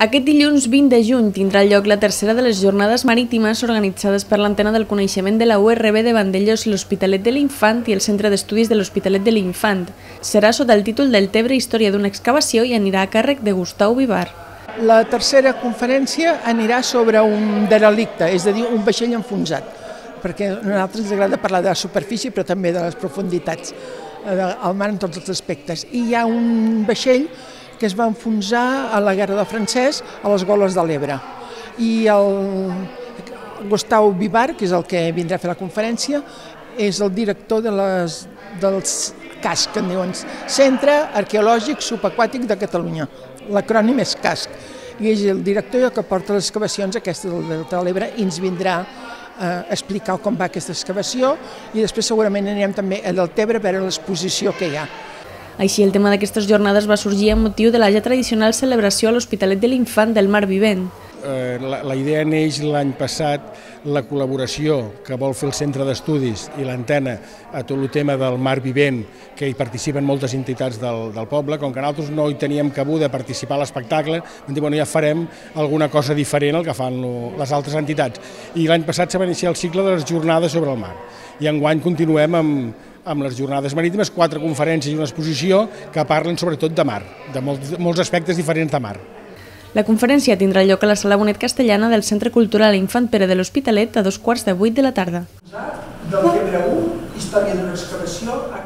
Aquest dilluns 20 de juny tindrà lloc la tercera de les jornades marítimes organitzades per l'Antena del Coneixement de la URB de Vandellòs, l'Hospitalet de l'Infant i el Centre d'Estudis de l'Hospitalet de l'Infant. Serà sota el títol del Tebre, història d'una excavació i anirà a càrrec de Gustau Vivar. La tercera conferència anirà sobre un derelicte, és a dir, un vaixell enfonsat, perquè a nosaltres ens agrada parlar de la superfície però també de les profunditats, al mar en tots els aspectes. I hi ha un vaixell que es va enfonsar a la Guerra del Francès a les Goles de l'Ebre. I el Gustau Vivar, que és el que vindrà a fer la conferència, és el director dels CASC, que en diuen Centre Arqueològic Subaquàtic de Catalunya. L'acrònim és CASC. I és el director que porta les excavacions aquestes del Delta de l'Ebre i ens vindrà a explicar com va aquesta excavació i després segurament anirem també a Deltebre a veure l'exposició que hi ha. Així, el tema d'aquestes jornades va sorgir amb motiu de la ja tradicional celebració a l'Hospitalet de l'Infant del Mar Vivent. La idea neix l'any passat, la col·laboració que vol fer el Centre d'Estudis i l'Antena a tot el tema del Mar Vivent, que hi participen moltes entitats del poble. Com que nosaltres no hi teníem cabuda a participar a l'espectacle, vam dir, bueno, ja farem alguna cosa diferent al que fan les altres entitats. I l'any passat se va iniciar el cicle de les jornades sobre el mar. I enguany continuem amb les jornades marítimes, 4 conferències i una exposició que parlen sobretot de mar, de molts aspectes diferents de mar. La conferència tindrà lloc a la Sala Bonet Castellana del Centre Cultural Infant Pere de l'Hospitalet a 2:15 de la tarda. Del Tebre 1, història d'una excavació a